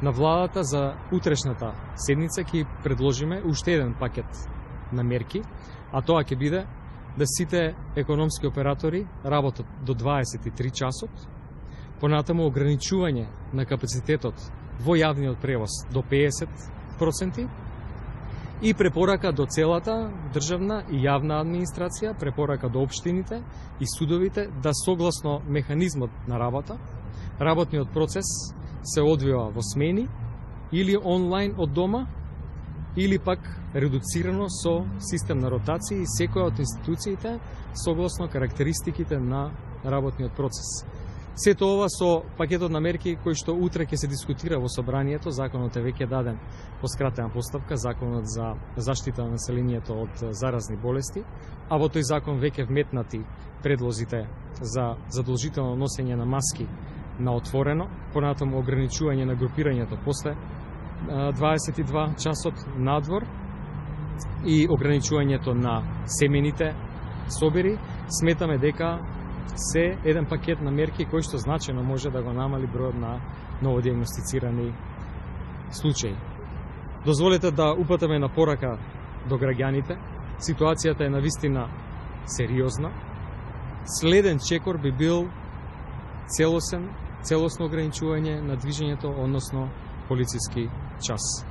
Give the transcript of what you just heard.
На владата за утрешната седница ќе предложиме уште еден пакет на мерки, а тоа ќе биде да сите економски оператори работат до 23 часот, понатаму ограничување на капацитетот во јавниот превоз до 50% и препорака до целата државна и јавна администрација, препорака до општините и судовите да согласно механизмот на работа, работниот процес се одвива во смени или онлайн од дома, или пак редуцирано со систем на ротација и секоја од институциите согласно карактеристиките на работниот процес. Сето ова со пакетот на мерки кој што утре ќе се дискутира во собранието. Законот е веќе даден по скратена постапка, законот за заштита на населението од заразни болести, а во тој закон веќе вметнати предлозите за задолжително носење на маски на отворено, понатаму ограничување на групирањето после 22 часот надвор и ограничувањето на семените собери. Сметаме дека се еден пакет на мерки кој што значајно може да го намали бројот на новодиагностицирани случаи. Дозволете да упатаме на порака до граѓаните. Ситуацијата е навистина сериозна. Следен чекор би бил целосно ограничување на движењето, односно полициски час.